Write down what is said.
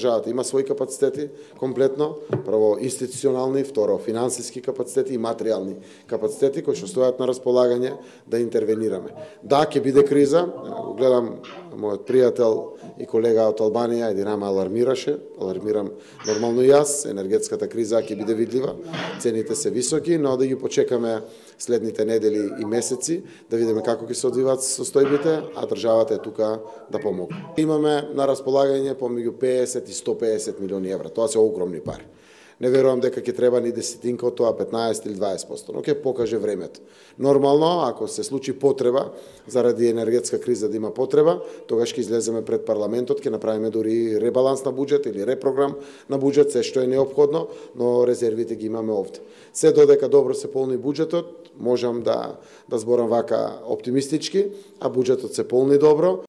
државата има своји капацитети комплетно, прво институционални, второ финансиски капацитети и материјални капацитети кои што стојат на располагање да интервенираме. Да, ќе биде криза, го гледам мојот пријател и колега од Албанија, Еди Рама алармирам нормално и јас, енергетската криза ќе биде видлива, цените се високи, но да ги почекаме следните недели и месеци, да видиме како ќе се одвиваат состојбите, а државата е тука да помогне. Имаме на располагање помеѓу 50 и 150 милиони евра, тоа се огромни пари. Не верувам дека ќе треба ни десетинка од тоа, 15 или 20%, но ќе покаже времето. Нормално, ако се случи потреба, заради енергетска криза да има потреба, тогаш ќе излеземе пред парламентот, ќе направиме дури ребаланс на буџет или репрограм на буџет, се што е неопходно, но резервите ги имаме овде. Се додека добро се полни буџетот, можам да зборам вака оптимистички, а буџетот се полни добро,